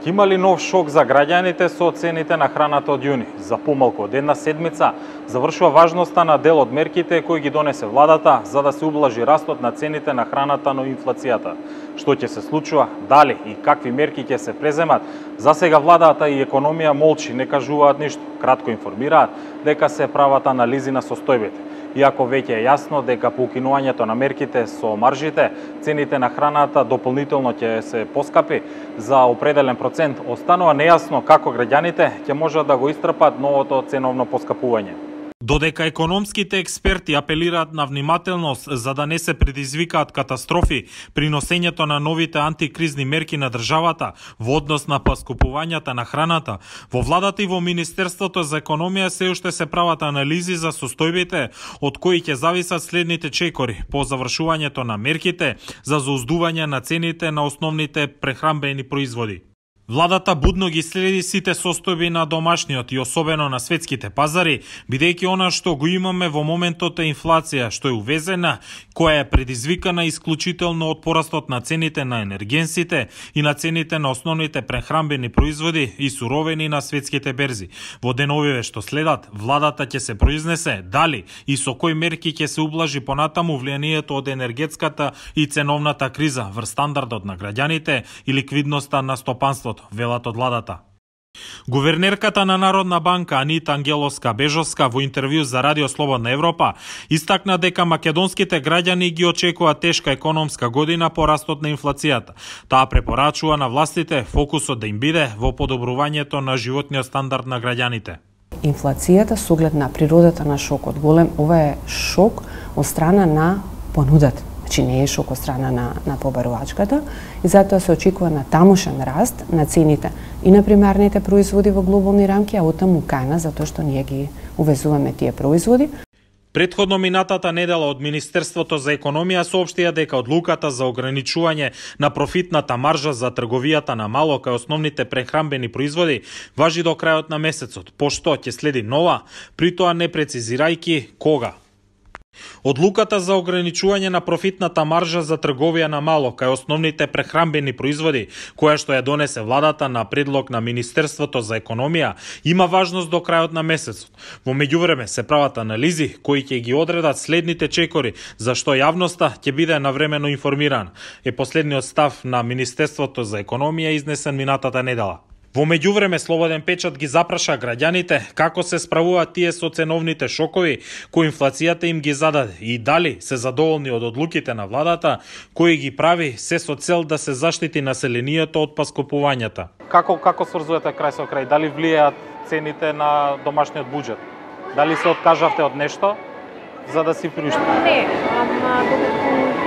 Има ли нов шок за граѓаните со цените на храната од јуни? За помалку од една седмица завршува важноста на дел од мерките кои ги донесе владата за да се ублажи растот на цените на храната, но инфлацијата. Што ќе се случува, дали и какви мерки ќе се преземат? За сега владата и економија молчи, не кажуваат ништо. Кратко информираат дека се прават анализи на состојбите. Иако веќе е јасно дека по укинувањето на мерките со маржите, цените на храната дополнително ќе се поскапи за определен процент, останува нејасно како граѓаните ќе можат да го истрпат новото ценовно поскапување. Додека економските експерти апелираат на внимателност за да не се предизвикаат катастрофи при носењето на новите антикризни мерки на државата во однос на поскупувањата на храната, во владата и во Министерството за економија се уште се прават анализи за состојбите од кои ќе зависат следните чекори по завршувањето на мерките за зауздување на цените на основните прехранбени производи. Владата будно ги следи сите состојби на домашниот и особено на светските пазари, бидејќи она што го имаме во моментот е инфлација, што е увезена, која е предизвикана исклучително од порастот на цените на енергенсите и на цените на основните прехранбени производи и суровини на светските берзи. Во деновиве што следат, владата ќе се произнесе дали и со кои мерки ќе се ублажи понатаму влијанието од енергетската и ценовната криза врз стандардот на граѓаните и ликвидноста на стопанството, велат од владата. Гувернерката на Народна банка Анита Ангеловска-Бежовска во интервју за Радио Слободна Европа истакна дека македонските граѓани ги очекува тешка економска година по растот на инфлацијата. Таа препорачува на властите фокусот да им биде во подобрувањето на животниот стандард на граѓаните. Инфлацијата со оглед на природата на шокот голем, ова е шок од страна на понудата. Значи не е шок од страна на побарувачката и затоа се очекува на тамошен раст на цените и на примарните производи во глобални рамки, а оттаму кај нас, затоа што ние ги увезуваме тие производи. Предходно минатата недела од Министерството за економија соопштија дека одлуката за ограничување на профитната маржа за трговијата на мало кај основните прехранбени производи важи до крајот на месецот, пошто ќе следи нова, при тоа не прецизирајќи кога. Одлуката за ограничување на профитната маржа за трговија на мало кај основните прехранбени производи, која што ја донесе владата на предлог на Министерството за економија, има важност до крајот на месецот. Во меѓувреме се прават анализи кои ќе ги одредат следните чекори за што јавноста ќе биде навремено информирана, е последниот став на Министерството за економија изнесен минатата недела. Во меѓувреме Слободен печат ги запраша граѓаните како се справуваат тие со ценовните шокови кои инфлацијата им ги зададе и дали се задоволни од одлуките на владата кои ги прави се со цел да се заштити населението од поскупувањата. Како сврзувате крај со крај? Дали влијаат цените на домашниот буџет? Дали се откажавте од нешто за да си приуштите? Не, докато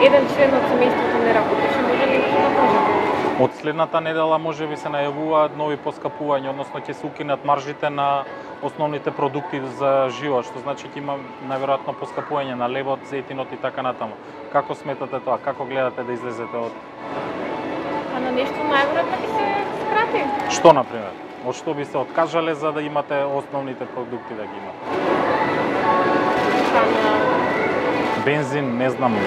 еден член од семејството не работеше, може ли да можете? Од следната недела можеби се најавуваат нови поскапувања, односно ќе се укинат маржите на основните продукти за живот, што значи ќе има најверојатно поскапување на лебот, зејтинот и така натаму. Како сметате тоа? Како гледате да излезете од? А на нешто најверојатно би се скрати. Што на пример? Од што би се откажале за да имате основните продукти да ги имате? Бензин, не знам.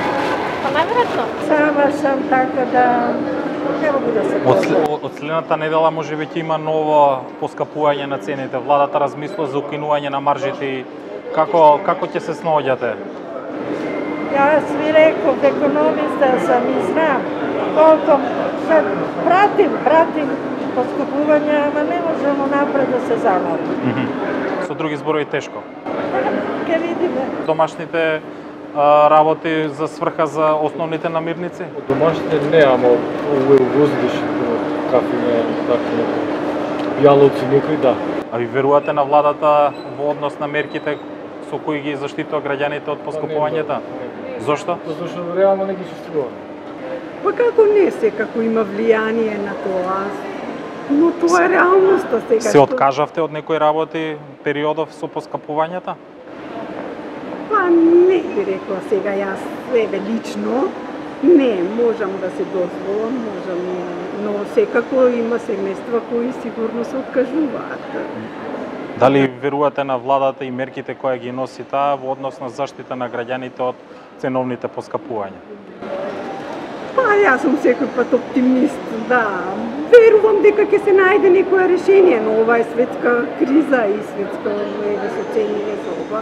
Па најверојатно. Сама сам така да Од следната недела можеби ќе има ново поскапување на цените. Владата размислува за укинување на маржите. Како ќе се снаоѓате? Јас ви реков, економиста сам и знам колку пратим поскапување, ама не можемо напред да се заморим. Со други зборови тешко. Ке видиме. Домашните работи за сврха за основните намирници? Домашните не, ама увозиш кафене, такви јалоци некои да. А ви верувате на владата во однос на мерките со кои ги заштитува граѓаните од поскапувањата? Зошто? Зашто реално не ги состојува. Па како не секако има влијание на тоа, но тоа е реалноста сега. Се откажавте од некои работи периодов со поскапувањата? Па не би рекла сега јас себе лично, не, можам да се дозволам, но секако има семејства кои сигурно се откажуваат. Дали верувате на владата и мерките кои ги носи таа во однос на заштита на граѓаните од ценовните поскапувања? Па јас сум секој пат оптимист, да. Верувам дека ќе се најде некое решение, но ова е светска криза и светска еве со цените со ова.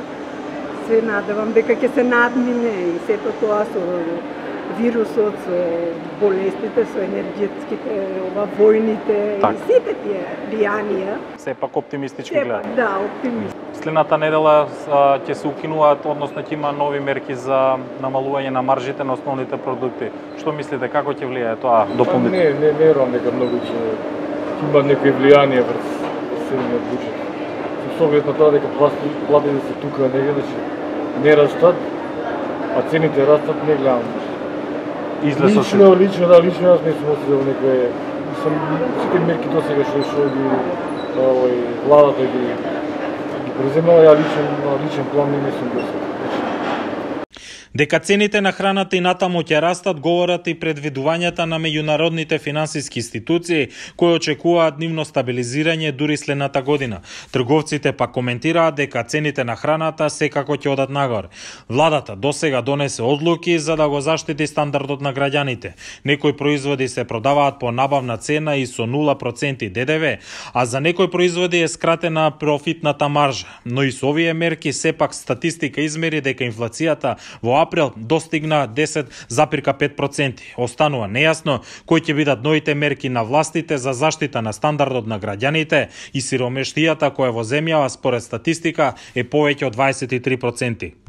Се надевам дека ќе се надмине и сето тоа со вирусот, со болестите, со енергетските, војните и сите тие влијанија. Сепак оптимистички гледа. Да, оптимист. Следната недела ќе се укинуваат, односно ќе има нови мерки за намалување на маржите на основните продукти. Што мислите, како ќе влијае тоа дополнително? Не верувам дека многу ќе има некои влијанија врз седмиот буџет. Со оглед на тоа дека платите се тука негде, не растат, а цените растат, не гледам. Лично јас не сум осетил некој, сите мерки досега што ги владата ги преземала, ја личен план не сум досега. Дека цените на храната и натаму ќе растат, говорат и предвидувањата на меѓународните финансиски институции, кои очекуваат нивно стабилизирање дури следната година. Трговците пак коментираат дека цените на храната секако ќе одат нагоре. Владата досега донесе одлуки за да го заштити стандардот на граѓаните. Некои производи се продаваат по набавна цена и со 0% ДДВ, а за некои производи е скратена профитната маржа. Но и со овие мерки сепак статистика измери дека инфлацијата во април достигна 10,5%. Останува нејасно кои ќе бидат новите мерки на властите за заштита на стандардот на граѓаните и сиромештијата која во земјава според статистика е повеќе од 23%.